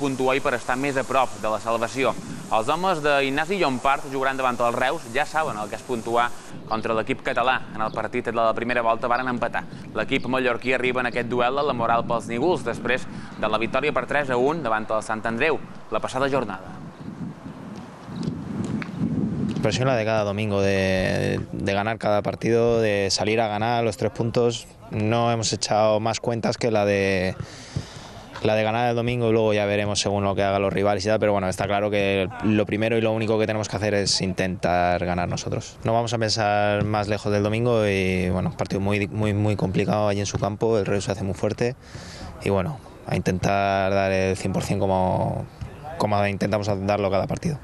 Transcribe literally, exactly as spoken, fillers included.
puntuar i per estar més a prop de la salvació. Els homes d'Ignasi Llompart jugaran davant els Reus, ja saben el que és puntuar contra l'equip català. En el partit de la primera volta varen empatar. L'equip mallorquí arriba en aquest duel a la moral pels nígols després de la victòria per tres a un davant el Sant Andreu la passada jornada. Presión la de cada domingo, de, de ganar cada partido, de salir a ganar los tres puntos. No hemos echado más cuentas que la de la de ganar el domingo y luego ya veremos según lo que hagan los rivales y tal, pero bueno, está claro que lo primero y lo único que tenemos que hacer es intentar ganar nosotros. No vamos a pensar más lejos del domingo y bueno, partido muy, muy, muy complicado allí en su campo, el Reus se hace muy fuerte y bueno, a intentar dar el cien por cien como, como intentamos darlo cada partido.